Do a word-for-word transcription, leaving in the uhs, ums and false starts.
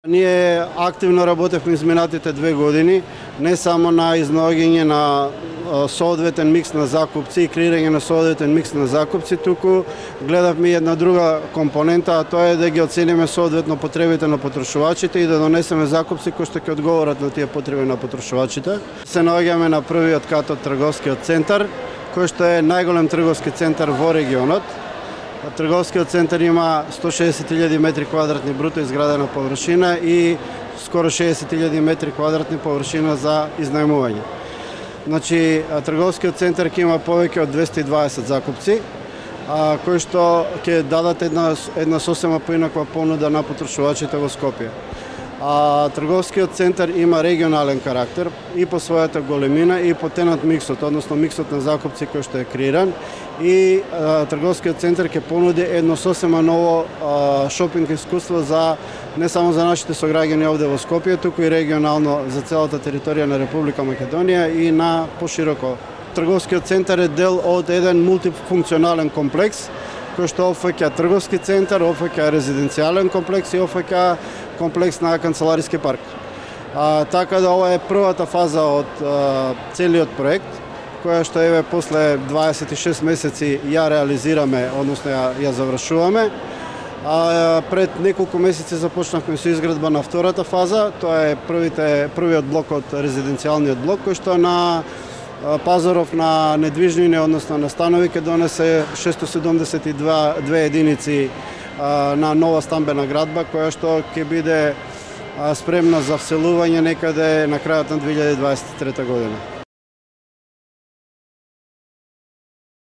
Ние активно работевме изминатите две години, не само на изнаоѓање на соодветен микс на закупци и креирање на соодветен микс на закупци, туку гледавме една друга компонента, а тоа е да ги оцениме соодветно потребите на потрошувачите и да донесеме закупци кои што ќе одговорат на тие потреби на потрошувачите. Се наоѓаме на првиот кат од трговскиот центар, кој што е најголем трговски центар во регионот. Трговскиот центар има сто шеесет илјади метри квадратни бруто изградена површина и скоро шеесет илјади метри квадратни површина за изнајмување. Значи, трговскиот центар ќе има повеќе од двесте и дваесет закупци, а, кои што ќе дадат една, една сосема поинаква понуда на потрошувачите во Скопје. А трговскиот центар има регионален карактер и по својата големина и по тенат миксот, односно миксот на закупци кој што е креиран, и а, трговскиот центар ќе понуди едно сосема ново а, шопинг искуство за не само за нашите сограѓани овде во Скопје, туку и регионално за целата територија на Република Македонија и на пошироко. Трговскиот центар е дел од еден мултифункционален комплекс кој што опфаќа трговски центар, опфаќа резиденцијален комплекс и опфаќа комплекс на канцелариски парк. А, така да ова е првата фаза од а, целиот проект, која што еве после дваесет и шест месеци ја реализираме, односно ја, ја завршуваме. А, пред неколку месеци започнавме со изградба на втората фаза, тоа е првите, првиот блок од резиденцијалниот блок, кој што на пазаров на недвижнини, односно на станови, ќе донесе шестоста седумдесет и две единици а, на нова стамбена градба, која што ќе биде а, спремна за вселување некаде на крајот на две илјади дваесет и трета година.